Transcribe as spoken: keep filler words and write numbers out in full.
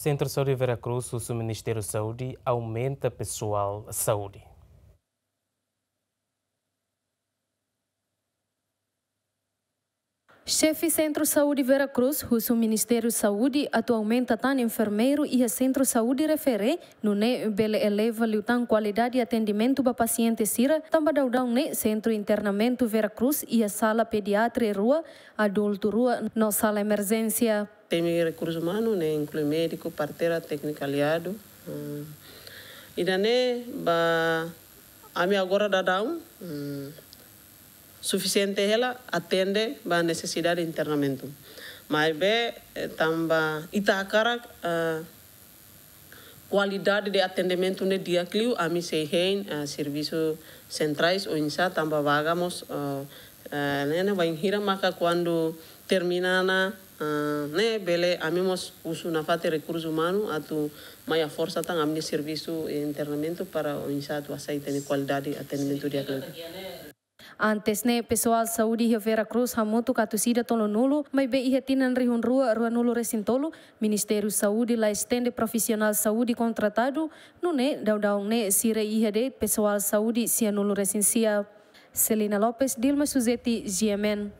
Sentru Saúde Vera Cruz husu Ministériu Saúde aumenta pesoál saúde. Xefe Sentru Saúde Vera Cruz husu Ministériu Saúde atu aumenta tan enfermeiru iha sentru saúde refere, nune'e bele eleva liután kualidade atendimentu ba pasiente sira, tanba daudaun ne'e sentru internamentu Vera Cruz iha sala pediatria rua, adultu rua no sala emerjénsia. Temi rekursu umanu ne'e inklui médiku, parteira, tékniku aliadu. Hmm. Ida-ne'e ba ami agora daudaun, hmm, sufisiente hela atende ba nesesidade internamentu. Maibé, eh, tanba ita hakarak, eh, kualidade de atendimentu ne'e di'ak liu, ami sei hein, eh, servisu sentrais oinsá tanba vaga mós, eh, eh, ne'e, ne'e bainhira maka kuandu termina ona, eh, ne'e bele ami mós husu nafatin rekursu umanu atu mai haforsa tan ami-nia servisu internamentu para oinsá atu hasai ita-nia kualidade atendimentu di'ak liu. Antes ne'e, pesoál saúde iha Vera Cruz hamutuk atus ida tolunulu, maibé iha tinan rihun rua ruanulu resin tolu, Ministériu Saúde la estende profisionál saúde kontratadu, nune'e daudaun ne'e sira iha de'it pesoál saúde sianulu resin sia. Celina Lopes, Dilma Suzeti, G M N.